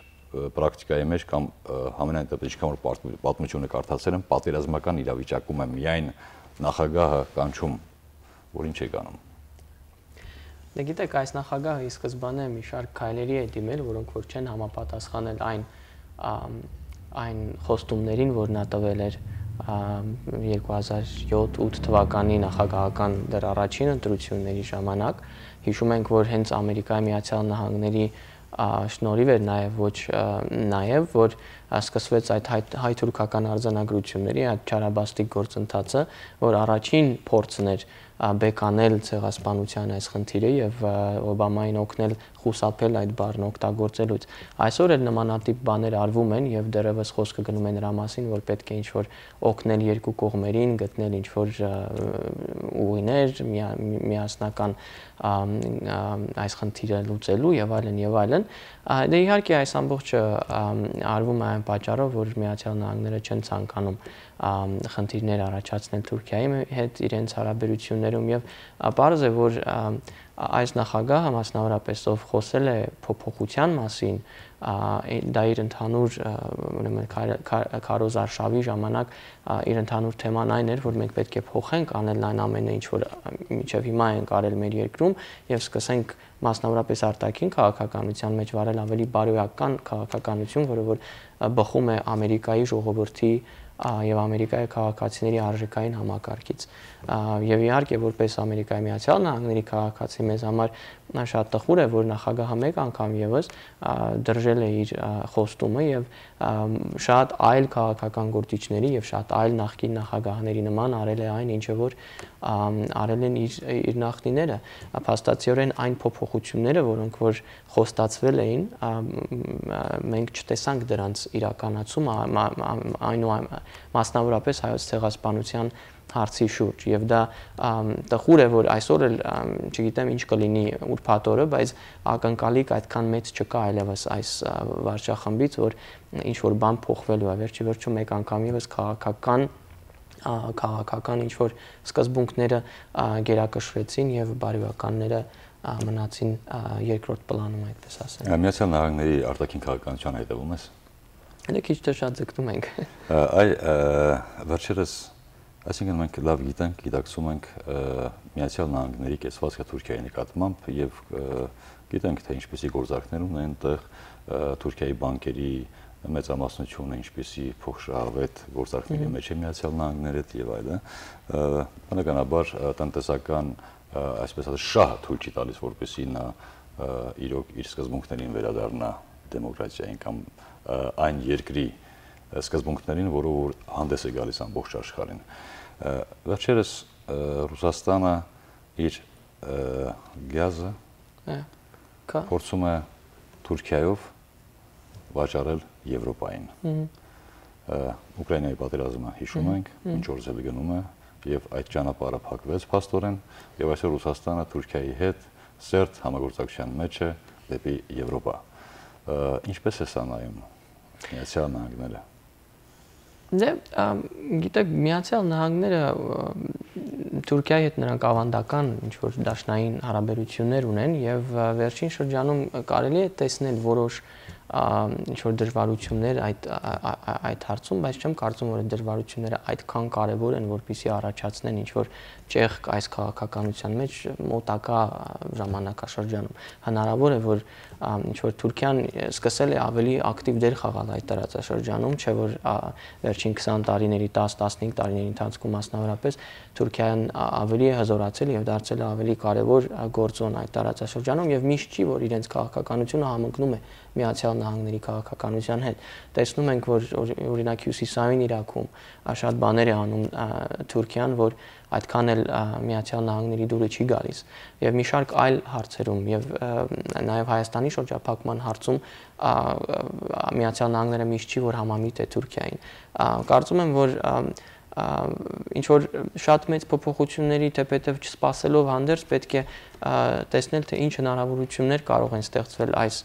պրակտիկայի մեջ կամ համենայն դեպս ինչքան որ պատմությունը կարդացել եմ, պատերազմական իրավիճակում է միայն նախագահը կանչում, որ ինչ է կանում։
Դե գիտեք, այս նախագահը ի սկզբանե մի շարք քայլերի է դիմել, որոնք որ չեն համապատասխանել այն խոստումներին, որ նա տվել էր 2007-8 թվականի նախագահական դեռ առաջին ընտրությունների ժամանակ։ Հիշում ենք, որ հենց Ամերիկայի Միացյալ Նահանգների շնորհիվ էր նաև որ սկսվեց այդ հայ-թուրքական արձանագրությունների այդ չարաբաստիկ գործընթացը, որ առաջին փորձն էր բեկանել ցեղասպանության այս խնդիրը եւ Օբամային օգնել խուսափել այդ բառն օգտագործելուց։ Այսօր էլ նմանատիպ բաներ արվում են եւ դեռևս խոսքը գնում է նրա մասին, որ պետք է ինչ-որ օգնել երկու կողմերին, գտնել ինչ-որ ուղիներ միասնական այս խնդիրը լուծելու եւ այլն եւ այլն։ Դե իհարկե այս ամբողջը արվում է այն պատճառով, որ Միացյալ Նահանգները չեն ցանկանում խնդիրներ առաջացնել Թուրքիայի հետ իրենց հարաբերություններում եւ պարզ է, որ այս նախագահը մասնավորապես ով խոսել է փոփոխության մասին, դա իր ընդհանուր ուրեմն քարոզարշավի ժամանակ իր ընդհանուր թեման այն էր, որ մենք պետք է փոխենք անել այն ամենը, ինչ որ մինչև հիմա ենք արել մեր երկրում եւ սկսենք մասնավորապես արտաքին քաղաքականության մեջ վարել ավելի բարոյական քաղաքականություն, որը որ բխում է Ամերիկայի ժողովրդի եւ Ամերիկայի քաղաքացիների արժեքային համակարգից։ Եվ իհարկե որպես Ամերիկայի Միացյալ Նահանգների քաղաքացի մեզ համար շատ տխուր է, որ նախագահը մեկ անգամ եւս դրժել է իր խոստումը եւ շատ այլ քաղաքական գործիչների եւ շատ այլ նախկին նախագահների նման արել է այն, ինչը որ արել են իր նախնիները։ Փաստացիորեն այն փոփոխությունները, որոնք որ խոստացվել էին, մենք չտեսանք դրանց իրականացումը, մասնավորապես հայոց ցեղասպանության հարցի շուրջ եւ դա տխուր է, որ այսօր էլ չգիտեմ ինչ կլինի ուրբաթ օրը, բայց ակնկալիք այդքան մեծ չկա այլևս այս վարչախմբից, որ ինչ որ բան փոխվելու է, վերջի վերջում մեկ անգամ եւս քաղաքական ինչ որ սկզբունքները գերակշռեցին եւ բարոյականները մնացին երկրորդ պլանում, այդպես ասեմ։
Միացյալ Նահանգների արտաքին քաղաքականության հետևում ես։
Դե քիչ թե շատ ձգտում ենք։
Այ վերջերս Այսինքն մենք լավ գիտենք, գիտակցում ենք Միացյալ Նահանգների կեցվածքը Թուրքիայի նկատմամբ եւ գիտենք, թե ինչպիսի գործարքներ ունեն այնտեղ Թուրքիայի բանկերի մեծամասնությունը, ինչպիսի փոխշահավետ գործարքների մեջ է Միացյալ Նահանգները եւ այլն, բնականաբար տնտեսական, այսպես ասած, շահը թույլ չի տալիս, որպեսզի նա իրոք իր սկզբունքներին վերադառնա դեմոկրատիային կամ այն երկրի սկզբունքներին, որով որ հանդես է գալիս ամբողջ աշխարհին։ Վերջերս Ռուսաստանը իր գազը փորձում է Թուրքիայով վաճառել Եվրոպային։ Ուկրաինայի պատերազմը հիշում ենք, ինչ օրս էլ գնում է, եւ այդ ճանապարհը փակվեց փաստորեն, եւ այսօր Ռուսաստանը Թուրքիայի հետ սերտ համագործակցության մեջ է դեպի Եվրոպա։ Ինչպես է սա նայում Միացյալ Նահանգները։
Դե, գիտեք, Միացյալ Նահանգները Թուրքիայի հետ նրանք ավանդական ինչ-որ դաշնային հարաբերություններ ունեն եւ վերջին շրջանում կարելի է տեսնել որոշ ինչ-որ դժվարություններ այդ հարցում, բայց չեմ կարծում, որ դժվարությունները այդքան կարևոր են, որպեսզի առաջացնեն ինչ-որ ճեղք այս քաղաքականության մեջ մոտակա ժամանակաշրջանում։ Հնարավոր է, որ ինչ-որ Թուրքիան սկսել է ավելի ակտիվ դեր խաղալ այդ տարածաշրջանում, չէ՞ որ վերջին 20 տարիների, 10-15 տարիների ընթացքում մասնավորապես Թուրքիան ավելի է հզորացել եւ դարձել է ավելի կարևոր գործոն այդ տարածաշրջանում եւ միշտ չի, որ իրենց քաղաքականությունը համընկնում է Միացյալ Նահանգների քաղաքականության հետ։ Տեսնում ենք, որ օրինակ Հյուսիսային Իրաքում շատ բաներ է անում Թուրքիան, որ այդքան էլ Միացյալ Նահանգների դուրը չի գալիս։ Եվ մի շարք այլ հարցերում եւ նաեւ Հայաստանի շրջափակման հարցում Միացյալ Նահանգները միշտ չի, որ համամիտ է Թուրքիային։ Կարծում եմ, որ ինչ որ շատ մեծ փոփոխությունների թեպետև չսպասելով հանդերձ պետք է տեսնել, թե ինչ հնարավորություններ կարող են ստեղծվել այս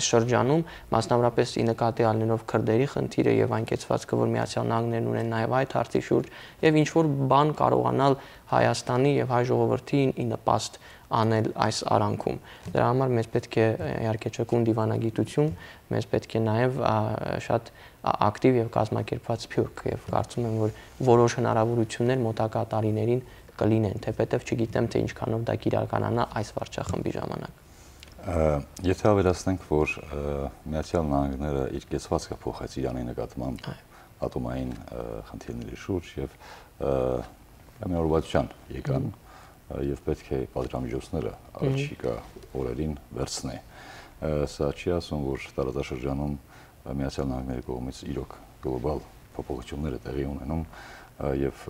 շրջանում, մասնավորապես ի նկատի առնելով քրդերի խնդիրը եւ այն կեցվածքը, որ Միացյալ Նահանգներն ունեն նաեւ այդ հարցի շուրջ, եւ ինչ որ բան կարողանալ Հայաստանի եւ հայ ժողովրդին ի նպաստ անել այս արանքում։ Դրա համար մեզ պետք է իհարկե ճկուն դիվանագիտություն, մեզ պետք է նաեւ շատ ակտիվ եւ կազմակերպված սփյուռք եւ կարծում եմ, որ որոշ հնարավորություններ մոտակա տարիներին կլինեն, թեպետև չգիտեմ, թե ինչքանով դա կիրականանա այս վարչախմբի ժամանակ։
Եթե ավելացնենք, որ Միացյալ Նահանգները իր կեցվածքը փոխեց Իրանի նկատմամբ ատոմային խնդիրների շուրջ եւ ամենօրվածության եկան եւ պետք է պատժամիջոցները առաջիկա օրերին վերցնի։ Սա չի ասում, որ տարածաշրջանում Միացյալ Նահանգների կողմից իրոք գլոբալ փոփոխություններ տեղի ունենում եւ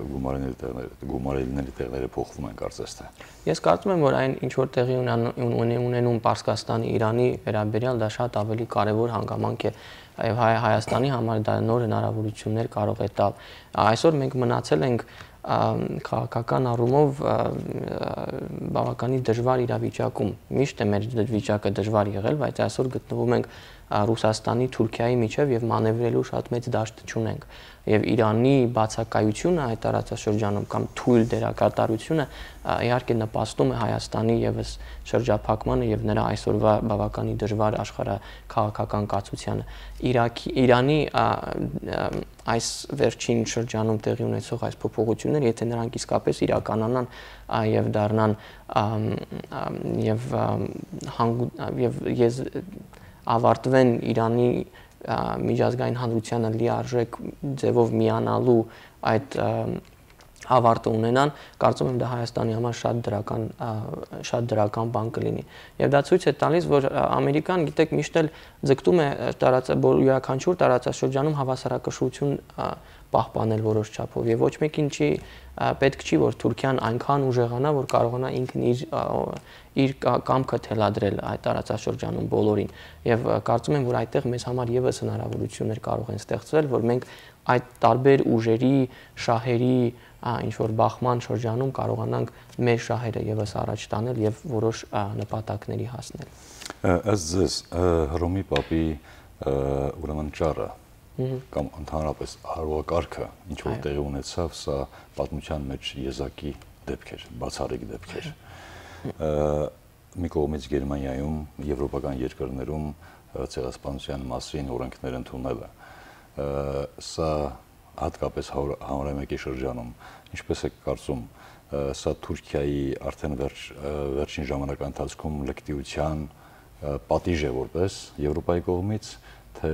գումարելիների տեղերը փոխվում են կարծես թե։
Ես կարծում եմ, որ այն ինչ որ տեղի ունենում Պարսկաստանի, Իրանի վերաբերյալ դա շատ ավելի կարևոր հանգամանք է եւ Հայաստանի համար դա նոր հնարավորություններ կարող է տալ։ Այսօր մենք մնացել ենք քաղաքական առումով բավականին դժվար իրավիճակում։ Միշտ է մեր վիճակը դժվար եղել, բայց այսօր գտնվում ենք Ռուսաստանի, Թուրքիայի միջև եւ մանևրելու շատ մեծ դաշտ չունենք։ Եվ Իրանի բացակայությունը այդ տարածաշրջանում կամ թույլ դերակատարությունը իհարկե նպաստում է Հայաստանի եւս շրջափակմանը եւ նրա այսօրվա բավականին դժվար աշխարհաքաղաքական կացությանը։ Իրանի այս վերջին շրջանում տեղի ունեցող այս փոփոխությունները, եթե նրանք իսկապես իրականանան եւ դառնան եւ ավարտվեն Իրանի միջազգային հանրությանը լիարժեք ձևով միանալու այդ ավարտը ունենան, կարծում եմ դա Հայաստանի համար շատ դրական բան կլինի։ Եվ դա ցույց է տալիս, որ Ամերիկան, գիտեք, միշտ էլ ձգտում է յուրաքանչյուր տարածաշրջանում հավասարակշռություն պահպանել որոշ չափով եւ ոչ մեկին պետք չի, որ Թուրքիան այնքան ուժեղանա, որ կարողանա ինքն իր կամքը թելադրել այդ տարածաշրջանում բոլորին։ Եվ կարծում եմ, որ այդտեղ մեզ համար եւս հնարավորություններ կարող են ստեղծվել, որ մենք այդ տարբեր ուժերի, շահերի ինչ որ բախման շրջանում կարողանանք մեր շահերը եւս առաջ տանել եւ որոշ նպատակների հասնել։
Ըստ ձեզ Հռոմի Պապի ուրեմն ճառը կամ ընդհանրապես արարողակարգը ինչ որ տեղի ունեցավ, սա պատմության մեջ եզակի դեպք էր, բացառիկ դեպք էր։ Մի կողմից Գերմանիայում, եվրոպական երկրներում ցեղասպանության մասին օրենքներ ընդունելը, սա հատկապես 101-ի շրջանում, ինչպես եք կարծում, սա Թուրքիայի արդեն վերջին ժամանակի ընթացքում լկտիության պատիժ է որպես Եվրոպայի կողմից, թե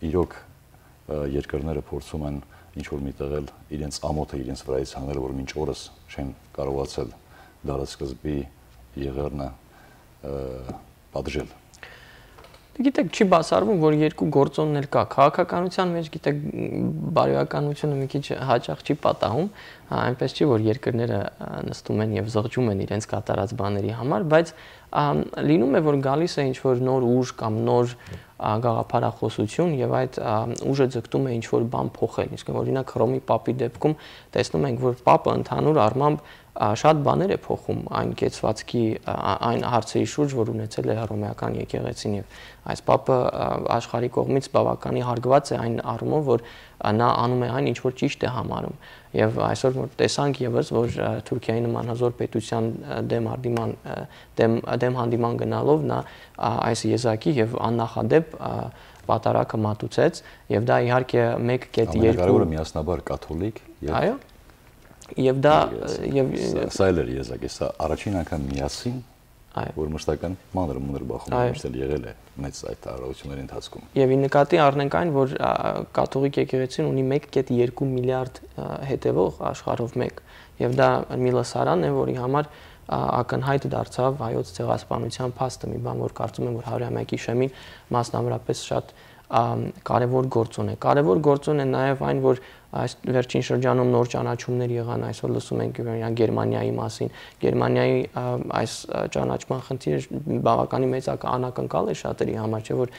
իրոք երկրները փորձում են ինչ-որ միտեղ իրենց ամոթը իրենց վրայից հանել, որ մինչ օրս չեն կարողացել դարաշրջանի եղեռնը պատժել։
Գիտեք, չի բացառվում, որ երկու գործոններ կա։ Քաղաքականության մեջ, գիտեք, բարոյականությունը մի քիչ հաճախ չի պատահում, այնպես չի, որ երկրները նստում են եւ զղջում են իրենց կատարած բաների համար, բայց լինում է, որ գալիս է ինչ-որ նոր ուժ կամ նոր գաղափարախոսություն եւ այդ ուժը ձգտում է ինչ-որ բան փոխել։ Իսկ օրինակ Հռոմի Պապի դեպքում տեսնում ենք, որ Պապը ընդհանուր առմամբ շատ բաներ է փոխում այն կեցվածքի այն հարցերի շուրջ, որ ունեցել է հռոմեական եկեղեցին եւ այս Պապը աշխարհի կողմից բավականին հարգված է այն առումով, որ նա անում է այն, ինչ որ ճիշտ է համարում եւ այսօր որ տեսանք եւս, որ Թուրքիայի նման հզոր պետության դեմ հանդիման գնալով նա այս եզակի եւ աննախադեպ պատարակը մատուցեց եւ դա իհարկե 1.2
Ամենակարևորը միասնաբար կաթոլիկ եւ
այո եւ դա եւ
սա էլ էր եզակի, սա առաջին անգամ միասին որ մշտական մանր բախում եղել է մեծ այդ տարածությունների ընթացքում։
Եվ ի նկատի առնենք այն, որ կաթողիկ եկեղեցին ունի 1.2 միլիարդ հետևող աշխարհով մեկ, եւ դա մի լսարան է, որի համար ակնհայտ դարձավ հայոց ցեղասպանության փաստը, մի բան, որ կարծում եմ, որ 101-ի շեմին մասնավորապես շատ կարևոր գործոն է։ Կարևոր գործոն է նաև այն, որ այս վերջին շրջանում նոր ճանաչումներ եղան, այսօր լսում ենք Գերմանիայի մասին։ Գերմանիայի այս ճանաչման խնդիրը բավականին մեծ անակնկալ է շատերի համար, չէ՞ որ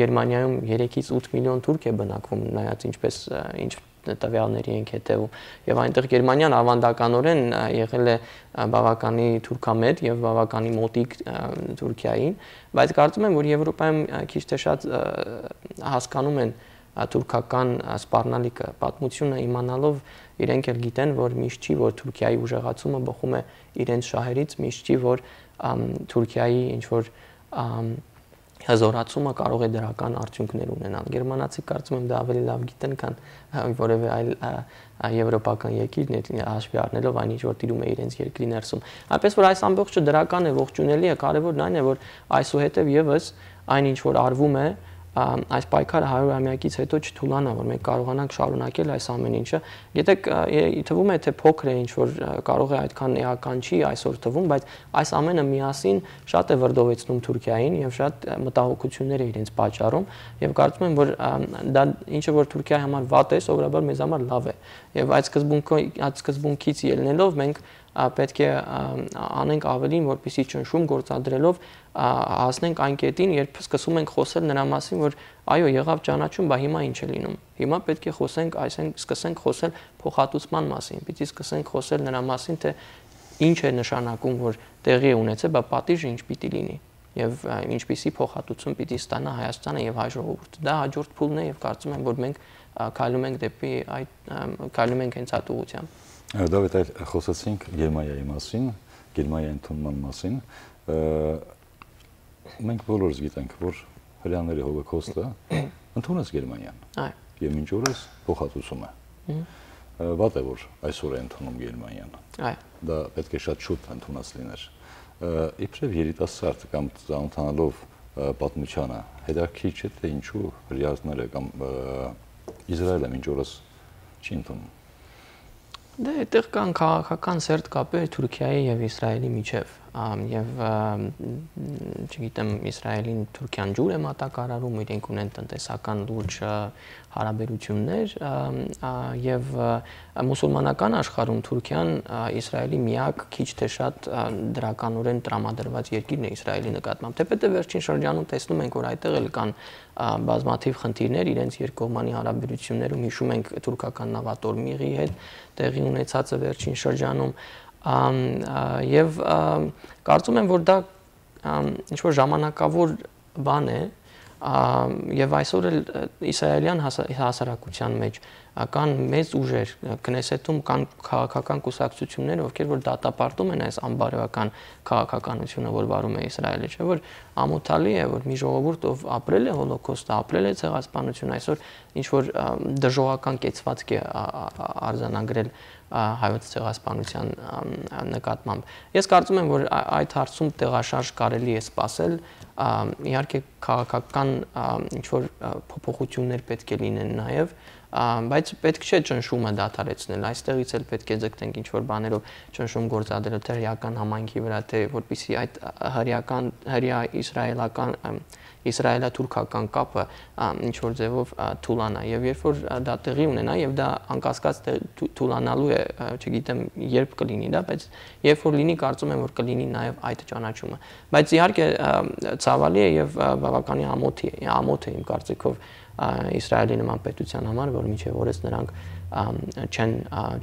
Գերմանիայում 3-ից 8 միլիոն թուրք է բնակվում, նայած ինչ տվյալների ենք հետևում եւ այնտեղ Գերմանիան ավանդականորեն եղել է բավականի թուրքամետ եւ բավականի մոտիկ Թուրքիային, բայց կարծում եմ, որ Եվրոպայում քիչ թե շատ հասկանում են թուրքական սպառնալիքը, պատմությունը իմանալով իրենք էլ գիտեն, որ միշտ չի, որ Թուրքիայի ուժեղացումը բխում է իրենց շահերից, միշտ չի, որ Թուրքիայի ինչ որ հզորացումը կարող է դրական արդյունքներ ունենալ։ Գերմանացի կարծում եմ դա ավելի լավ գիտեն, քան որևէ այլ եվրոպական երկիր հաշվի առնելով այն ինչ որ տիրում է իրենց երկրի ներսում։ Այնպես որ այս ամբողջը դրական է, ողջունելի է, կարևորն այն է, որ այսուհետև եւս այն ինչ որ արվում է այս պայքարը 100-ամյակից հետո չթուլանա, որ մենք կարողանանք շարունակել այս ամեն ինչը։ Գիտեք, թվում է թե փոքր է, ինչ որ կարող է այդքան էական չի այսօր թվում, բայց այս ամենը միասին շատ է վրդովեցնում Թուրքիային եւ շատ մտահոգություններ է իրենց պատճառում եւ կարծում եմ, որ դա ինչը որ Թուրքիայի համար վատ է, սովորաբար մեզ համար լավ է։ Եվ այդ սկզբունքից ելնելով մենք պետք է անենք ավելին, որպեսզի ճնշում գործադրելով հասնենք այն կետին, երբ սկսում ենք խոսել նրա մասին, որ այո, եղավ ճանաչում, բա հիմա ինչ է լինում։ Հիմա պետք է խոսենք, այսինքն սկսենք խոսել փոխհատուցման մասին, պիտի սկսենք խոսել նրա մասին, թե ինչ է նշանակում, որ տեղի է ունեցել, բա պատիժը ինչ պիտի լինի եւ ինչպիսի փոխհատուցում պիտի ստանա Հայաստանը եւ հայ ժողովուրդը։ Դա հաջորդ փուլն է եւ կարծում եմ, որ մենք քայլում ենք դեպի քայլում ենք հենց այդ ուղղությամբ։
Դավիթ, այլ խոսեցինք Գերմանիայի մասին, Գերմանիայի ընդունման մասին։ Մենք բոլորս գիտենք, որ հրեաների հոլոկոստը ընդունեց Գերմանիան։ Այո։ Եվ մինչ օրս փոխհատուցում է։ Վատ է, որ այսօր է ընդունում Գերմանիան։ Այո։ Դա պետք է շատ շուտ ընդունած լիներ։ Իբրև երիտասարդ կամ ծանոթանալով պատմությանը, հետաքրքիր չէ, թե ինչու հրեաները կամ Իսրայելը մինչ օրս չի ընդունում։
Դե այդտեղ կան քաղաքական սերտ կապեր Թուրքիայի եւ Իսրայելի միջև եւ չգիտեմ Իսրայելին Թուրքիան ջուր է մատակարարում, իրենք ունեն տնտեսական լուրջ հարաբերություններ եւ մուսուլմանական աշխարհում Թուրքիան Իսրայելի միակ քիչ թե շատ դրականորեն տրամադրված երկիրն է Իսրայելի նկատմամբ։ Թեպետև վերջին շրջանում տեսնում ենք, որ այդտեղ էլ կան բազմաթիվ խնդիրներ իրենց երկկողմանի հարաբերություններում, հիշում ենք թուրքական նավատորմիղի հետ տեղի ունեցածը վերջին շրջանում եւ կարծում եմ, որ դա ինչ որ ժամանակավոր բան է, եւ այսօր էլ իսրայելյան հասարակության մեջ կան մեծ ուժեր Քնեսեթում կան քաղաքական կուսակցություններ, ովքեր որ դատապարտում են այս անբարոյական քաղաքականությունը, որ վարում է Իսրայելը, չէ՞ որ ամոթալի է, որ մի ժողովուրդ ով ապրել է հոլոկոստը, ապրել է ցեղասպանությունը, այսօր ինչ որ դժողական կեցվածք է արձանագրել հայոց ցեղասպանության նկատմամբ։ Ես կարծում եմ, որ այդ հարցում տեղաշարժ կարելի է սպասել, իհարկե քաղաքական ինչ որ փոփոխություններ պետք է լինեն նաև, բայց պետք չէ ճնշումը դադարեցնել, այստեղից էլ պետք է ձգտենք ինչ որ բաներով ճնշում գործադրել թե հրեական համայնքի վրա, թե որպեսզի այդ հրեա-իսրայելական իսրայելա-թուրքական կապը ինչ որ ձևով թուլանա եւ երբ որ դա տեղի ունենա եւ դա անկասկած թուլանալու է, չգիտեմ երբ կլինի դա, բայց երբ որ լինի, կարծում եմ որ կլինի նաեւ այդ ճանաչումը, բայց իհարկե ցավալի է եւ բավականին ամոթ է իմ կարծիքով Իսրայելի նման պետության համար, որ մինչև օրս նրանք չեն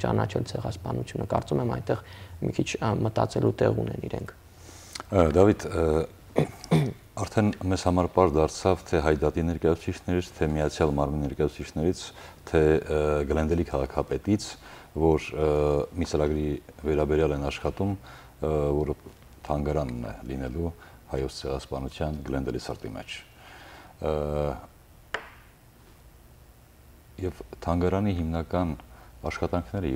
ճանաչել ցեղասպանությունը, կարծում եմ այդտեղ մի քիչ մտածելու տեղ ունեն իրենք։
Դավիթ, արդեն մեզ համար պարզ դարձավ թե հայդատի ներկայացուցիչներից, թե Միացյալ Մարմնի ներկայացուցիչներից, թե Գլենդելի քաղաքապետից, որ մի ծրագրի վերաբերյալ են աշխատում, որը թանգարանն է լինելու հայոց ցեղասպանության Գլենդելի սրտի մեջ։ Եվ թանգարանի հիմնական աշխատանքները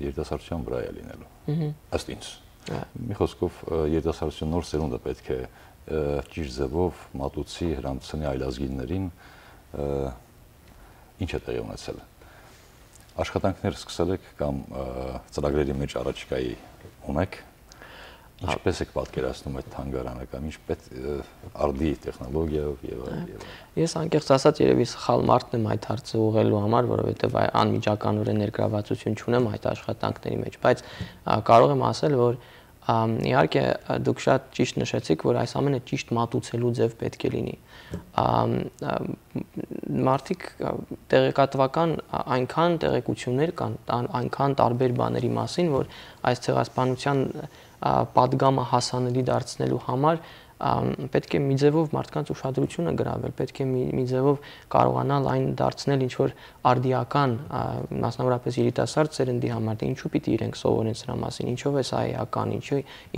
երիտասարդության վրա է լինելու, ըստ ինձ։ Մի խոսքով երիտասարդության նոր սերունդը պետք է ճիշտ ձևով մատուցի հրամցնի այլազգիներին, ինչ է տեղի ունեցել։ Աշխատանքներ սկսել եք կամ ծրագրերի մեջ առաջիկայի ունեք, ինչպես եք պատկերացնում այդ թանգարանը կամ ինչպես արդի տեխնոլոգիայով եւ այլն։
Ես անկեղծ ասած երևի սխալ մարդն եմ այդ հարցը ուղղելու համար, որովհետեւ անմիջականորեն ներգրավվածություն չունեմ այդ աշխատանքների մեջ, բայց կարող եմ ասել, որ իհարկե դուք շատ ճիշտ նշեցիք, որ այս ամենը ճիշտ մատուցելու ձև պետք է լինի։ Մարդիկ տեղեկատվական այնքան տեղեկություններ կան, այնքան տարբեր բաների մասին, որ այս ցեղասպանության պատգամը հասանելի դարձնելու համար պետք է մի ձևով մարդկանց ուշադրությունը գրավել, պետք է մի ձևով կարողանալ այն դարձնել ինչ որ արդիական, մասնավորապես երիտասարդ սերնդի համար, թե ինչու պիտի իրենք սովորեն սրա մասին, ինչով է սա էական,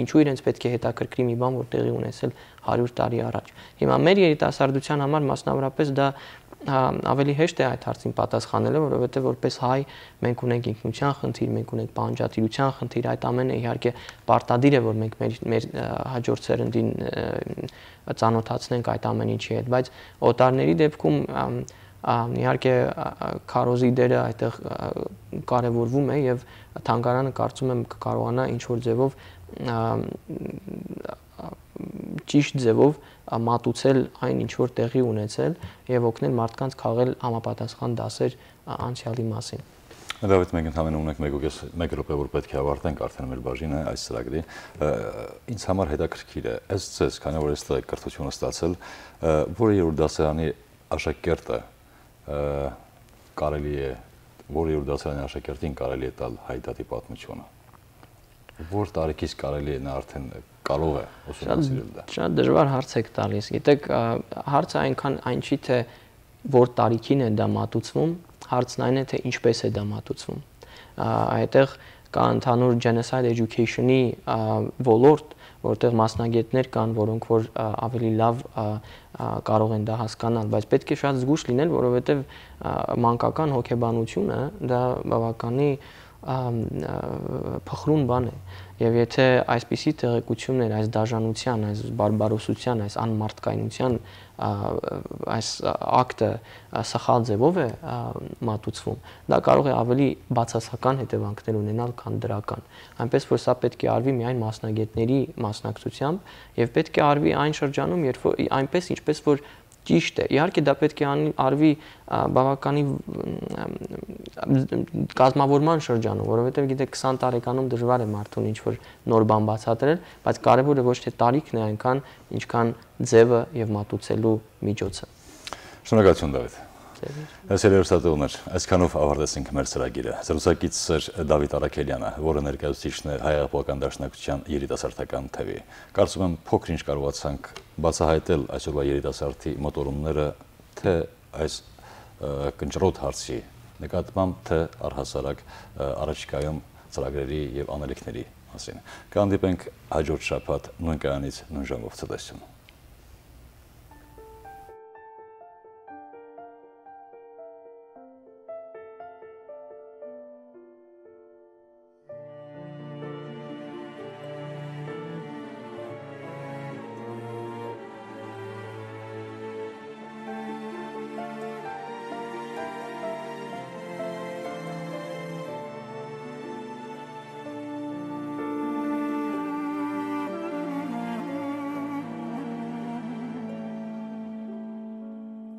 ինչու իրենց պետք է հետաքրքրի մի բան, որ տեղի ունեցել 100 տարի առաջ։ Հիմա մեր երիտասարդության համար մասնավորապես դա ավելի հեշտ է այդ հարցին պատասխանելը, որովհետև որպես հայ մենք ունենք ինքնության խնդիր, մենք ունենք պահանջատիրության խնդիր, այդ ամենը իհարկե պարտադիր է, որ մենք մեր հաջորդ սերնդին ծանոթացնենք այդ ամեն ինչի հետ, բայց օտարների դեպքում իհարկե քարոզի դերը այդտեղ կարևորվում է եւ թանգարանը կարծում եմ կկարողանա ինչ որ ձևով ճիշտ ձևով մատուցել այն ինչ որ տեղի ունեցել եւ օգնել մարդկանց քաղել համապատասխան դասեր անցյալի մասին։
Դավիթ, մենք ընդհանրապես ունենք 1 րոպե, որ պետք է ավարտենք արդեն մեր բաժինը այս ծրագրի։ Ինձ համար հետաքրքիր է, ըստ ձեզ, քանի որ այստեղ կրթությունը ստացել, որը երրորդ դասարանի աշակերտը կարելի է, որը երրորդ դասարանի աշակերտին կարելի է տալ հայդատի պատմությունը։ Որ տարիքից կարելի է նա արդեն կարող է ուսումնասիրել դա։ Շատ
դժվար հարց եք տալիս։ Գիտեք, հարցը այնքան այն չի, թե որ տարիքին է դա մատուցվում, հարցն այն է, թե ինչպես է դա մատուցվում։ Այդտեղ կա ընդհանուր genocide education-ի ոլորտ, որտեղ մասնագետներ կան, որոնք որ ավելի լավ կարող են դա հասկանալ, բայց պետք է շատ զգուշ լինել, որովհետև մանկական հոգեբանությունը դա բավականի փխրուն բան է եւ եթե այսպիսի տեղեկություններ, այս դաժանության, այս բարբարոսության, այս անմարդկայնության այս ակտը սխալ ձևով է մատուցվում, դա կարող է ավելի բացասական հետևանքներ ունենալ, քան դրական։ Այնպես որ սա պետք է արվի միայն մասնագետների մասնակցությամբ եւ պետք է արվի այն շրջանում, երբ որ այնպես ինչպես որ ճիշտ է։ Իհարկե դա պետք է արվի բավականի կազմավորման շրջանում, որովհետև գիտեք 20 տարեկանում դժվար է մարդուն ինչ-որ նոր բան բացատրել, բայց կարևորը ոչ թե տարիքն է այնքան, ինչքան ձևը եւ մատուցելու միջոցը։
Շնորհակալություն Դավիթ։ Հերոսատողներ, այսքանով ավարտեցինք մեր ծրագիրը։ Զրուցակիցս էր Դավիթ Արաքելյանը, որը ներկայացուցիչն է Հայ Հեղափոխական Դաշնակցության երիտասարդական թևի։ Կարծում եմ փոքր ինչ կարողացանք բացահայտել այսօրվա երիտասարդի մոտորումները թե այս կնճռոտ հարցի նկատմամբ, թե առհասարակ առաջիկայում ծրագրերի եւ անելիքների մասին։ Կհանդիպենք հաջորդ շաբաթ նույն կայանից նույն ժամով ցտեսություն։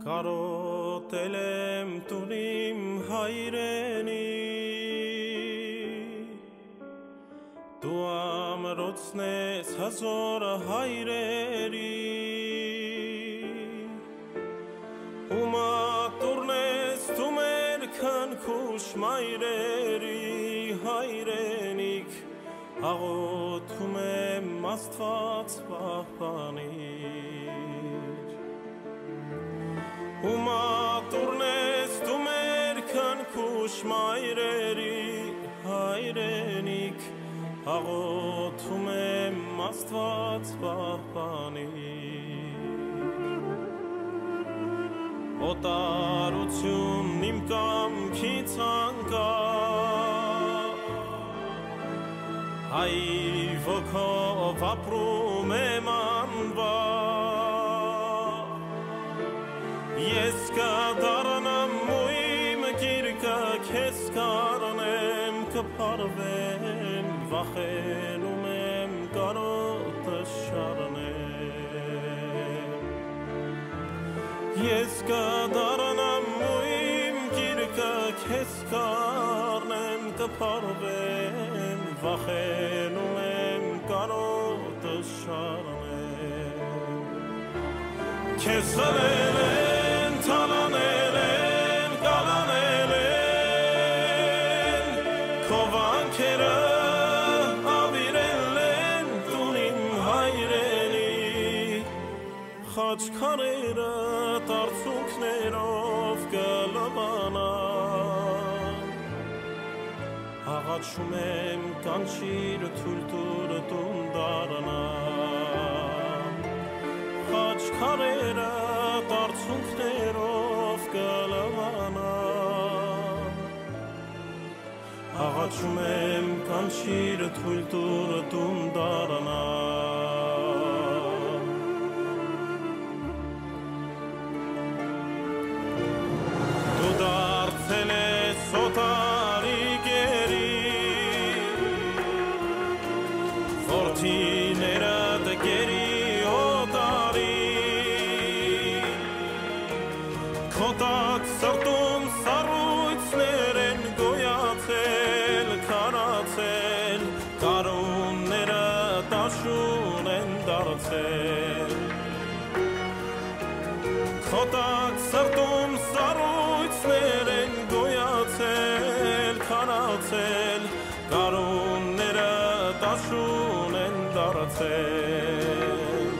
Կարոտել եմ տունիմ հայրենի, դու ամրոցն ես հազոր հայրերի, ու մատուրն ես դու մեր քնքուշ մայրերի հայրենիք, աղոթում եմ Աստված պահպանիր։ Ու մատուրն ես դու մեր քնքուշ մայրերի հայրենիք, աղոթում եմ Աստված պահպանիր։ Օտարությունն իմ կամքից անկա, հայր ոգով ապրում եմ անվար, ես կդառնամ ու իմ գիրկը քեզ կանեմ, կփարվեմ, վախենում եմ կարոտը շարնեմ, ես կդառնամ ու իմ գիրկը քեզ կանեմ, կփարվեմ, վախենում եմ կարոտը շարնեմ, քեզ խլել են, թալանել են, կալանել են, քո վանքերը ավիրել են տունին հայրենի, խաչքարերը տարցունքներով կլվանան, աղաչում եմ կանչիր թույլ տուր տուն դառնամ, խաչքարերը տարցունքներով կլվանան, աղաչում եմ կանչիր թույլ տուր տուն դառնամ, դու դարձել ես օտարի գերի, որդիներդ գերի Քոտակ սրտում սառույցներ են գոյացել, քարացել, կարունները տաշուն են դարձել, Քոտակ սրտում սառույցներ են գոյացել, քարացել, կարունները տաշուն են դարձել,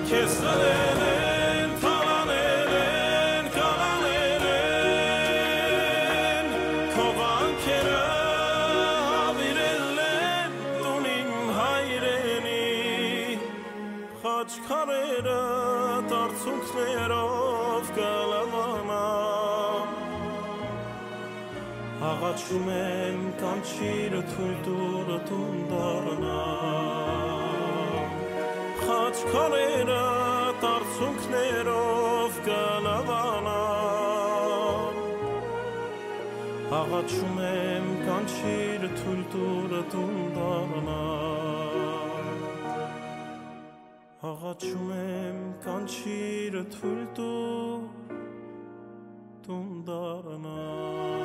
քեզ խլել են, թալանել են, կալանել են, քո վանքերը ավիրել են տունին հայրենի, խաչքարերը տարցունքներով կլվանան, աղաչում եմ կանչիր թույլ տուր տուն դառնամ, խաչքարերը տարցունքներով կլվանան, աղաչում եմ կանչիր թույլ տուր տուն դառնամ, աղաչում եմ կանչիր թույլ տուր տուն դառնամ